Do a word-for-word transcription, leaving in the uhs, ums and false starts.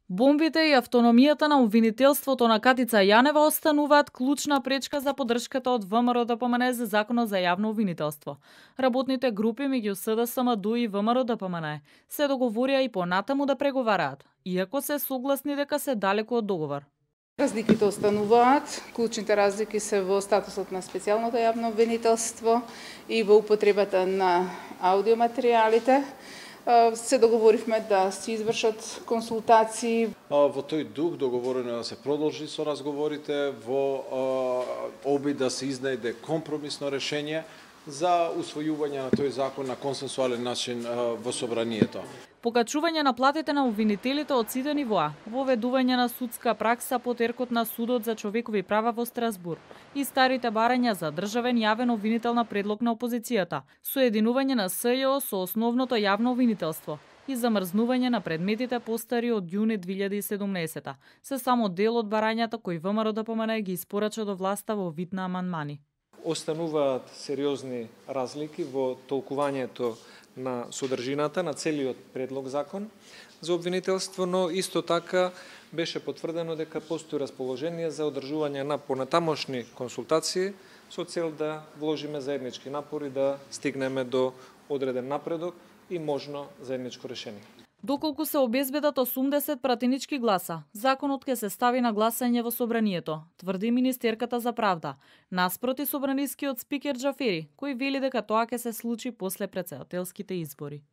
Бомбите и автономијата на обвинителството на Катица Јанева остануваат клучна пречка за поддршката од ВМРО-ДПМН за Законот за јавно обвинителство. Работните групи меѓу СДСМ-ДУ и ВМРО-ДПМН се договорија и понатаму да преговараат, иако се согласни дека се далеку од договор. Разликите остануваат. Клучните разлики се во статусот на специјалното јавно обвинителство и во употребата на аудиоматеријалите. Се договоривме да се извршат консултации. Во тој дух договорено да се продолжи со разговорите во обид да се изнајде компромисно решение за усвојување на тој закон на консенсуален начин во собранието. Покачување на платите на обвинителите од сите нивоа, воведување на судска пракса по теркот на Судот за човекови права во Страсбур и старите барања за државен јавен обвинител на предлог на опозицијата, соединување на СЈО со основното јавно обвинителство и замрзнување на предметите постари од јуни две илјади и седумнаесета, се само дел од барањата кои ВМРО-ДПМН ги испорача до власта во вид на амандмани. Остануваат сериозни разлики во толкувањето на содржината на целиот предлог закон за обвинителство, но исто така беше потврдено дека постои расположение за одржување на понатамошни консултации со цел да вложиме заеднички напори да стигнеме до одреден напредок и можно заедничко решение. Доколку се обезбедат осумдесет пратенички гласа, законот ќе се стави на гласање во собранието, тврди министерката за правда, наспроти собранискиот спикер Џафери, кој вели дека тоа ќе се случи после претседателските избори.